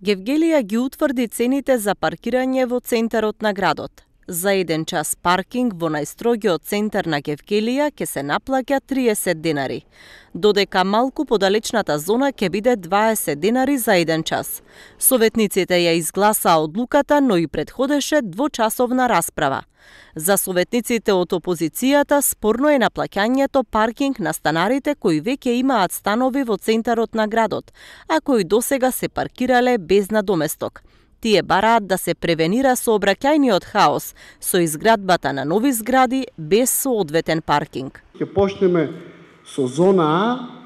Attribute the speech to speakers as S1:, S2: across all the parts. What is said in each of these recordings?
S1: Гевгелија ги утврди цените за паркирање во центарот на градот. За 1 час паркинг во најстрогиот центар на Гевгелија ќе се наплаќа 30 денари, додека малку подалечната зона ќе биде 20 денари за 1 час. Советниците ја изгласаа одлуката, но и претходеше двочасовна расправа. За советниците од опозицијата спорно е наплаќањето паркинг на станарите кои веќе имаат станови во центарот на градот, а кои досега се паркирале без надоместок. Тие бараат да се превенира сообраќајниот хаос со изградбата на нови згради без соодветен паркинг.
S2: Ќе почнеме со зона А,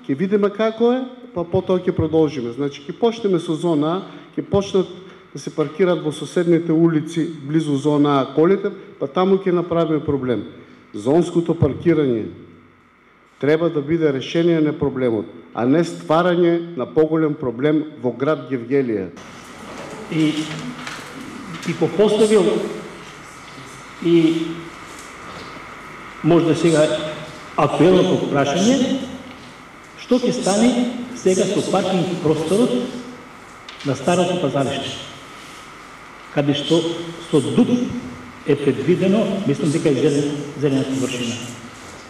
S2: ќе видиме како е, па потоа ќе продолжиме. Значи ќе почнеме со зона А, ќе почнат да се паркираат во соседните улици близу зона А колите, па таму ќе направиме проблем. Зонското паркирање треба да биде решение на проблемот, а не стварање на поголем проблем во град Гевгелија.
S3: И го поставил и може да сега апелно прашање, што ќе стане сега со паркинг просторот на старото пазариште, каде што со дуб е предвидено, мислам дека е зелената површина.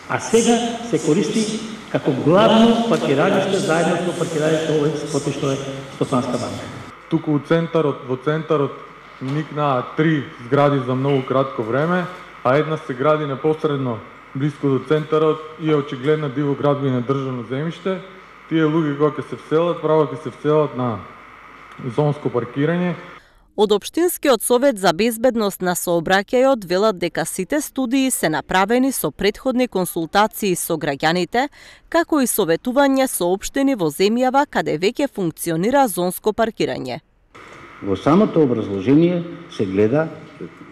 S3: А сега се користи како главно паркиралиште заедно со паркиралиште овој споти што е Стопанска банка.
S4: Туку во центарот никнаа 3 згради за многу кратко време, а една се гради непосредно близко до центарот и е очигледна диво градби на државно земјиште. Тие луѓе кога ќе се вселат, право ќе се вселат на зонско паркирање.
S1: Од Општинскиот совет за безбедност на сообраќајот велат дека сите студии се направени со претходни консултации со граѓаните, како и советување со општини во земјава каде веќе функционира зонско паркирање.
S5: Во самото образложение се гледа,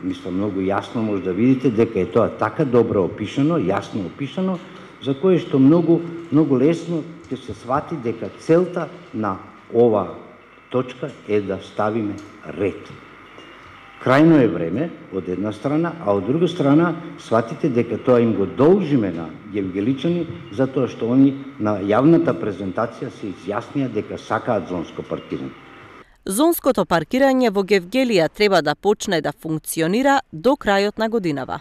S5: мислам многу јасно може да видите дека е тоа така добро опишано, јасно опишано, за кое што многу лесно ќе се свати дека целта на ова точка е да ставиме ред. Крајно е време од една страна, а од друга страна сватите дека тоа им го должиме на гевгеличани, затоа што они на јавната презентација се изјаснија дека сакаат зонско паркирање.
S1: Зонското паркирање во Гевгелија треба да почне да функционира до крајот на годинава.